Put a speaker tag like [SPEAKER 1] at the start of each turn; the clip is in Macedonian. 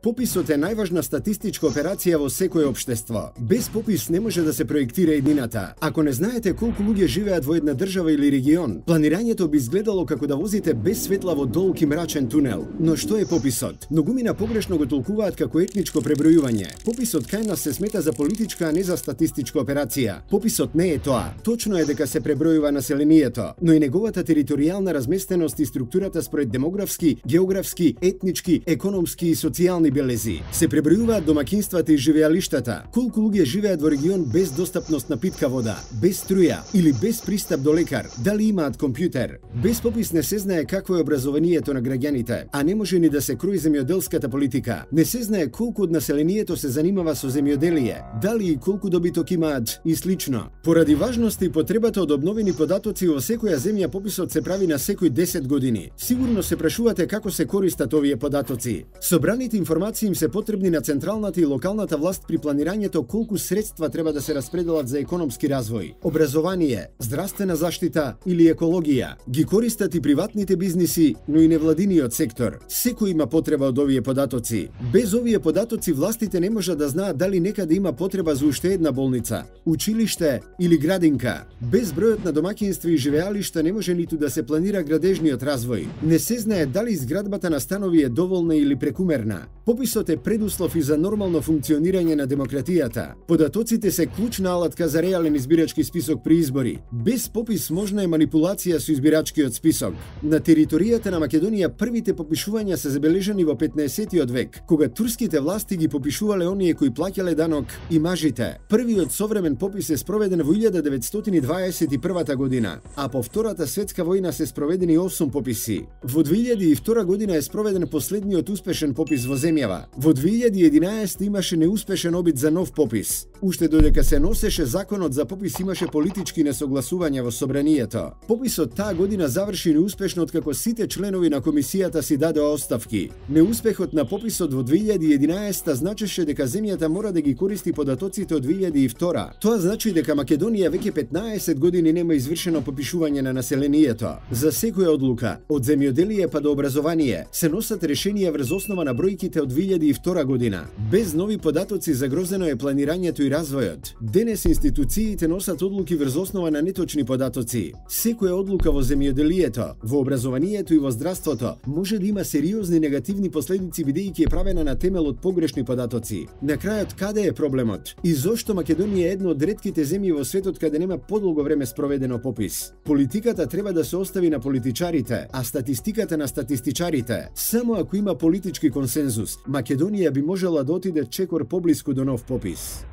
[SPEAKER 1] Пописот е најважна статистичка операција во секое општество. Без попис не може да се проектира еднината. Ако не знаете колку луѓе живеат во една држава или регион, планирањето би изгледало како да возите без светла во долг и мрачен тунел. Но што е пописот? Многумина погрешно го толкуваат како етничко пребројување. Пописот кај нас се смета за политичка, а не за статистичка операција. Пописот не е тоа. Точно е дека се пребројува населението, но и неговата територијална разместеност и структурата според демографски, географски, етнички, економски и социјални белези. Се пребројуваат домакинствата и живеалиштата. Колку луѓе живеат во регион без достапност на питка вода, без струја или без пристап до лекар, дали имаат компјутер. Без попис не се знае какво е образованието на граѓаните, а не може ни да се крои земјоделската политика. Не се знае колку од населението се занимава со земјоделие, дали и колку добиток имаат и слично. Поради важноста и потребата од обновени податоци во секоја земја, пописот се прави на секој 10 години. Сигурно се прашувате како се користат овие податоци. Собраните информации им се потребни на централната и локалната власт при планирањето колку средства треба да се распределат за економски развој, образование, здравствена заштита или екологија. Ги користат и приватните бизниси, но и невладиниот сектор. Секој има потреба од овие податоци. Без овие податоци властите не можат да знаат дали некаде има потреба за уште една болница, училиште или градинка. Без бројот на домаќинства и живеалишта не може ниту да се планира градежниот развој. Не се знае дали изградбата на станови е доволна или прекумерна. Пописот е предуслов и за нормално функционирање на демократијата. Податоците се клучна алатка за реален избирачки список при избори. Без попис можна е манипулација со избирачкиот список. На територијата на Македонија првите попишувања се забележани во 15-тиот век, кога турските власти ги попишувале оние кои плаќале данок и мажите. Првиот современ попис е спроведен во 1921 година, а по Втората светска војна се спроведени 8 пописи. Во 2002 година е спроведен последниот успешен попис во земјава. Во 2011 имаше неуспешен обид за нов попис. Уште додека се носеше законот за попис имаше политички несогласувања во собранието. Пописот таа година заврши неуспешно откако сите членови на комисијата си дадоа оставки. Неуспехот на пописот во 2011 значеше дека земјата мора да ги користи податоците од 2002. Тоа значи дека Македонија веќе 15 години нема извршено попишување на населението. За секоја одлука, од земјоделие па до образование, се носат решенија врз основа на бројките од 2002 година. Без нови податоци загрозено е планирањето и развојот. Денес институциите носат одлуки врз основа на неточни податоци. Секоја одлука во земјоделието, во образованието и во здравството може да има сериозни негативни последици бидејќи е правена на темел од погрешни податоци. На крајот, каде е проблемот? И зошто Македонија е една од ретките земји во светот каде нема подолго време спроведено попис? Политиката треба да се остави на политичарите, а статистиката на статистичарите. Само ако има политички консензус, Македонија би можела да отиде чекор поблиску до нов попис.